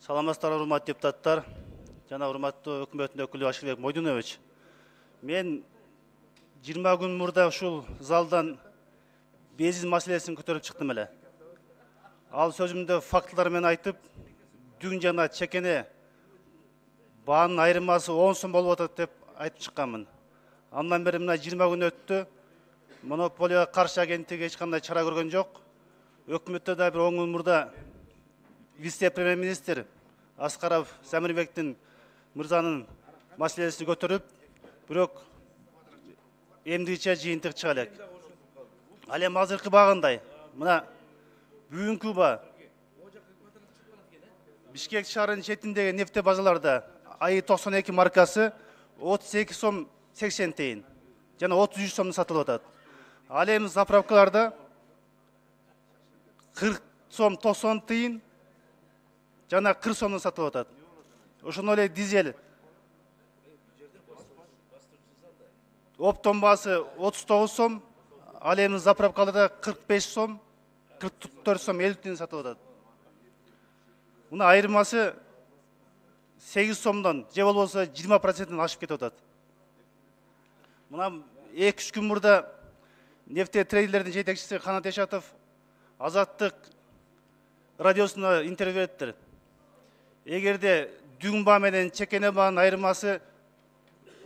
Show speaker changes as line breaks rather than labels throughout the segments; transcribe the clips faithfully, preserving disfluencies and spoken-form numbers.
Саламатсыздар, урматтуу депутаттар жана урматтуу өкмөттүн өкүлү Ашылбек Мойдунович. Мен жыйырма күн мурда ушул залдан бензин маселесин көтөрүп чыктым эле. Ал сөзүмдө фактылар менен айтып, дүң жана чекене баанын айырмасы он сом болуп атат деп айтып чыкканмын. Андан бери мына жыйырма күн өттү. Монополияга каршы агенттиги эч кандай чара көргөн жок. Өкмөттө да бир он күн мурда вице-премьер-министр Аскаров Самирбектин мырзанын маселесин көтөрүп, бирок эмдигиче жыйынтык чыга элек. Ал эми азыркы баа кандай? Мына бүгүнкү баа Бишкек шаарынын четиндеги нефтебазаларда АИ токсон эки маркасы отуз эки сом сексен тыйын жана отуз үч сомдон сатылып атат. Ал эми заправкаларда кырк сом токсон тыйын жана кырк сомдон сатылып атат. Ошондой эле дизель оптом баасы отуз тогуз сом, ал эми заправкаларда кырк беш сом, кырк төрт сом элүү тыйын сатылып атат. Мына айырмасы сегиз сомдон же болбосо жыйырма проценттен ашып кетип атат. Мына эки үч күн мурда нефтетрейдерлердин жетекчиси Канат Эшатов Азаттык радиосуна интервью бериптир. Эгерде дүң баа менен чекене баанын айырмасы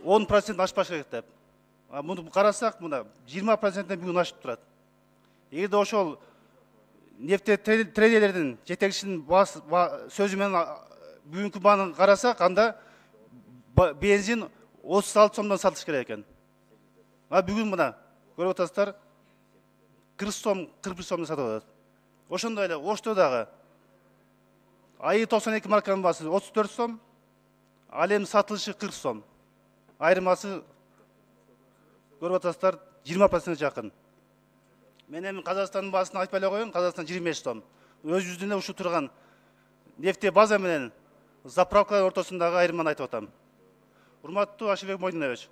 он процент ашпаш керек деп. Муну карасак, мына жыйырма проценттен бүгүн ашып турат. Эгерде ошол нефтетрейдерлердин жетекчисинин сөзү менен бүгүнкү бааны карасак, анда бензин отуз алты сомдон сатылыш керек экен. А бүгүн мына көрүп атасыздар, кырк сом, кырк бир сомдон сатылып атат. Ошондой эле Ошто дагы АИ токсон эки марканын баасы отуз төрт сом, ал эми сатылышы кырк сом. Айырмасы көрүп атасыздар, жыйырма процентке жакын. Мен эми Казакстандын баасын айтпай эле коеюн, Казакстан жыйырма беш сом. Өз жүзүнө ушу турган нефте база менен заправкалар ортосундагы айырманы айтып атам. Урматтуу Ашылбек Мойдунович,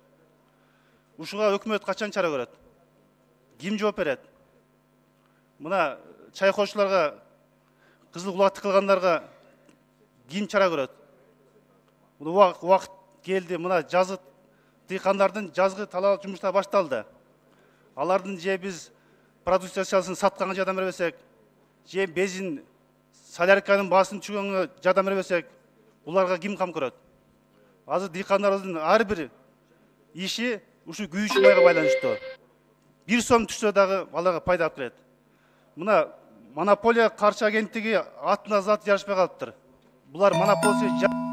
ушуга өкмөт качан чара көрөт? Ким жооп берет? Мына чайкоочуларга, кызыл кулакты кылгандарга ким чара көрөт? Мына убакыт келди, мына жазгы дыйкандардын жазгы талаа жумуштары башталды. Алардын же биз продукциясын сатканга жардам бербесек, же бензин солярканын баасын түшүргөнгө жардам бербесек, буларга ким кам көрөт? Азыр дыйкандарыбыздын ар бир иши ушу күйүүчү майга байланыштуу. Бир сом түшсө дагы аларга пайда алып келет. Мына монополия каршы агенттиги атына зат жарышпай калыптыр. Булар монополия